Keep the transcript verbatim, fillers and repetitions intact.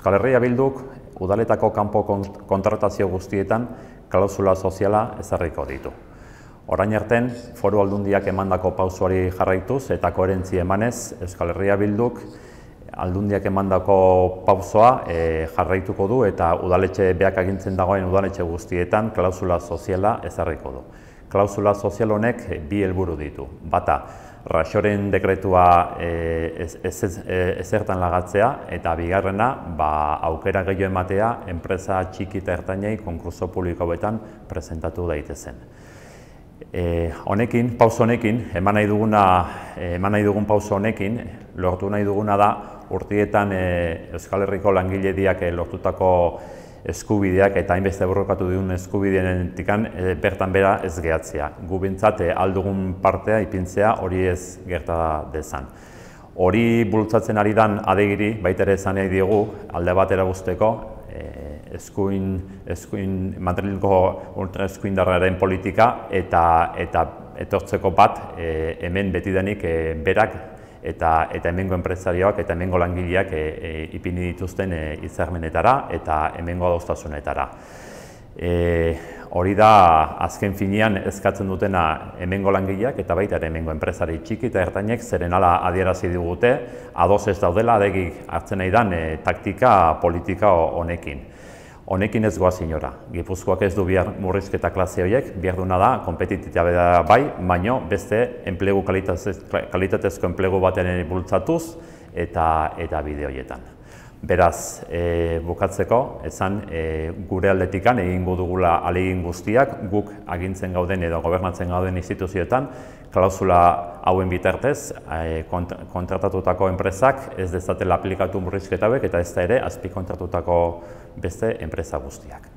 Euskal Herria Bilduk udaletako kanpo kontratazio guztietan klausula soziala ezarriko ditu. Orain arten, foru aldundiak emandako pausoari jarraituz eta koherentzia emanez, Euskal Herria Bilduk aldundiak emandako pausoa e, jarraituko du eta udaletxe beak agintzen dagoen udaletxe guztietan klausula soziala ezarriko du. Klausula sozial honek bi helburu ditu. Bata, Raxoren dekretua e, ezertan lagatzea eta bigarrena ba, aukera gehiago ematea enpresa txiki eta ertainei konkurso publikoetan presentatu daitezen. E, honekin, pauso honekin, eman nahi duguna, eman nahi dugun pauso honekin, lortu nahi duguna da urtietan e, Euskal Herriko langilediak e, lortutako eskubideak eta hainbeste borrokatu duen eskubidenetik e, bertan bera ez gehatzea. Gu bintzat e, aldugun partea ipintzea hori ez gerta dezan. Hori bultzatzen ari dan adegiri baita ere esan nahi diogu alde batera guzteko e, eskuin, eskuin, Madrilgo ultraeskuindarraren politika eta, eta etortzeko bat e, hemen betidanik e, berak eta, eta hemengo enpresarioak eta hemengo langileak e, e, ipini dituzten e, hitzarmenetara eta hemengo adostasunetara. E, hori da azken finean eskatzen dutena hemengo langileak eta baita ere hemengo enpresari txiki eta ertainek zeren hala adierazi digute ados ez daudela adegik hartzen nahi dan e, taktika politika honekin. Honekin ez goaz inora. Gipuzkoak ez du bihar murrizketa klase horiek, behar duna da, kompetititatea bai, baino beste enplegu kalitatezko enplegu baten bultzatuz eta, eta bide horietan. Beraz, e, bukatzeko, esan e, gure aldetikan egingo dugula ahalegin guztiak, guk agintzen gauden edo gobernatzen gauden instituzioetan, klausula hauen bitartez, e, kont kontratatutako enpresak ez dezatela aplikatu murrizketa hauek eta ez da ere azpikontratutako beste enpresa guztiak.